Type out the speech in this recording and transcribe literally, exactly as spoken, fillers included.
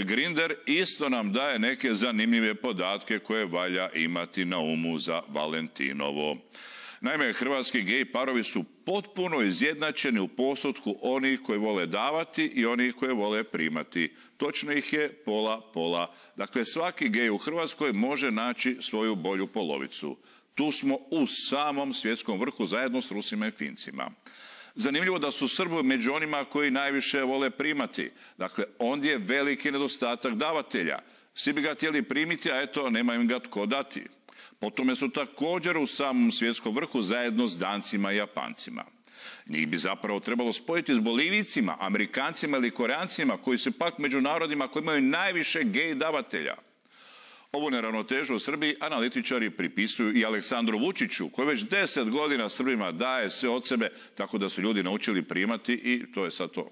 Grindr isto nam daje neke zanimljive podatke koje valja imati na umu za Valentinovo. Naime, hrvatski gej parovi su potpuno izjednačeni u postotku onih koji vole davati i onih koji vole primati. Točno ih je pola pola. Dakle, svaki gej u Hrvatskoj može naći svoju bolju polovicu. Tu smo u samom svjetskom vrhu zajedno s Rusima i Fincima. Zanimljivo da su Srbi među onima koji najviše vole primati. Dakle, ondje je veliki nedostatak davatelja. Svi bi ga htjeli primiti, a eto, nema im ga tko dati. Po tome su također u samom svjetskom vrhu zajedno s Dancima i Japancima. Njih bi zapravo trebalo spojiti s Bolivijcima, Amerikancima ili Koreancima, koji su pak među narodima koji imaju najviše gej davatelja. Ovu neravnotežu u Srbiji analitičari pripisuju i Aleksandru Vučiću, koji već deset godina Srbima daje sve od sebe, tako da su ljudi naučili primati i to je sad to.